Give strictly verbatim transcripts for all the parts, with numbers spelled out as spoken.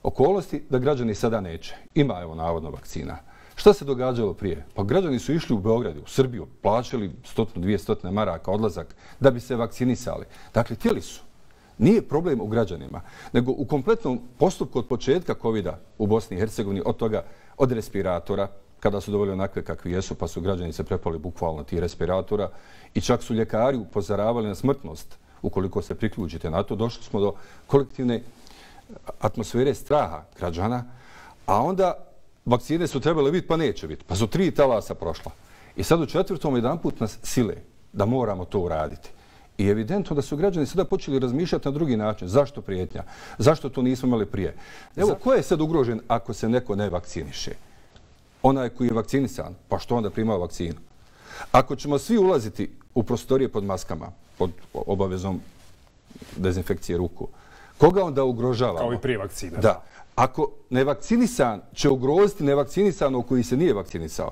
okolnosti da građani sada neće. Ima, evo, navodno vakcina. Šta se događalo prije? Pa građani su išli u Beograd, u Srbiju, plaćali stotinu, dvije stotine maraka odlazak da bi se vakcinisali. Dakle, htjeli su. Nije problem u građanima, nego u kompletnom postupku od početka kovida u Bosni i Hercegovini, od toga, od respiratora, kada su dovoljno onakve kakvi jesu, pa su građani se prepali bukvalno tih respiratora i čak su ljekari upozoravali na smrtnost ukoliko se priključite na to. Došli smo do kolektivne atmosfere straha građana, a onda vakcine su trebale biti, pa neće biti. Pa su tri talasa prošla. I sad u četvrtom jedanput nas sile da moramo to uraditi. I evidentno da su građani sada počeli razmišljati na drugi način. Zašto prijetnja? Zašto to nismo imali prije? Evo, ko je sad ugrožen ako se neko ne vakciniše? Onaj koji je vakcinisan, pa što onda primao vakcinu? Ako ćemo svi ulaziti u prostorije pod maskama, pod obavezom dezinfekcije ruku, koga onda ugrožavamo? Kao i prije vakcine. Da. Ako nevakcinisan će ugroziti nevakcinisanog koji se nije vakcinisao,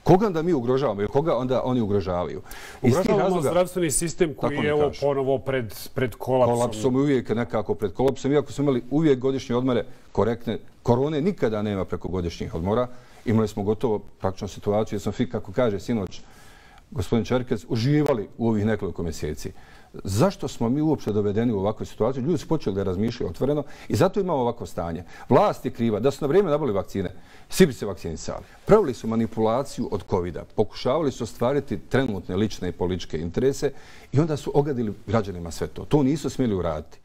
koga onda mi ugrožavamo ili koga onda oni ugrožavaju? Ugrožavamo zdravstveni sistem koji je evo ponovo pred, pred kolapsom. Kolapsom i uvijek nekako pred kolapsom. Iako smo imali uvijek godišnje odmore korektne, korone nikada nema preko godišnjih odmora. Imali smo gotovo praktično situaciju jer smo svi, kako kaže sinoć gospodin Čerkez, uživali u ovih nekoliko mjeseci. Zašto smo mi uopće dovedeni u ovakvu situaciju? Ljudi su počeli da razmišljaju otvoreno i zato imamo ovako stanje. Vlast je kriva. Da su na vrijeme nabavili vakcine, svi bi se vakcinisali. Pravili su manipulaciju od kovida. Pokušavali su ostvariti trenutne lične i političke interese i onda su ogadili građanima sve to. To nisu smjeli uraditi.